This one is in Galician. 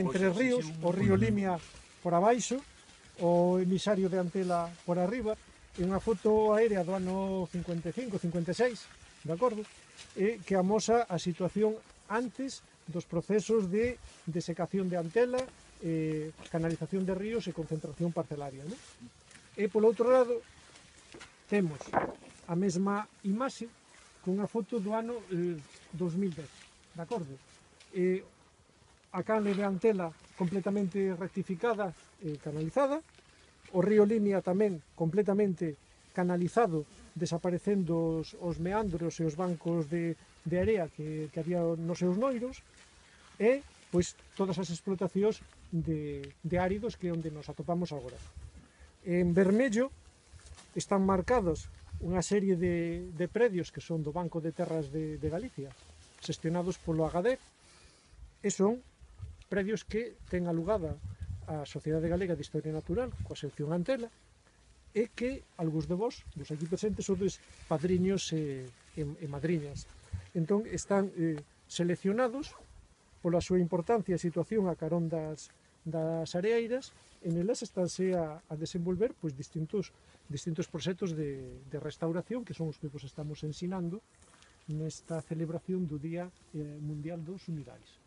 entre ríos, o río Limia por abaixo, o emisario de Antela por arriba, e unha foto aérea do ano 55-56, de acordo? Que amosa a situación antes dos procesos de desecación de Antela, canalización de ríos e concentración parcelaria, non? E polo outro lado temos a mesma imaxe cunha foto do ano 2010, de acordo? A canle de Antela completamente rectificada e canalizada, o río Limia tamén completamente canalizado, desaparecendo os meandros e os bancos de area que había nos seus noiros, e pois todas as explotacións de áridos que é onde nos atopamos agora. En vermello están marcados unha serie de predios que son do Banco de Terras de Galicia, xestionados polo AGADER, e son predios que ten alugada a Sociedade Galega de Historia Natural, coa sección Antela, e que algúns de vós, dos aquí presentes, sodes padriños e madriñas. Entón, están seleccionados pola súa importancia e situación a carón das areeiras, e nelas estánse a desenvolver pois, distintos proxectos de restauración, que son os que vos estamos ensinando nesta celebración do Día Mundial dos Humidais.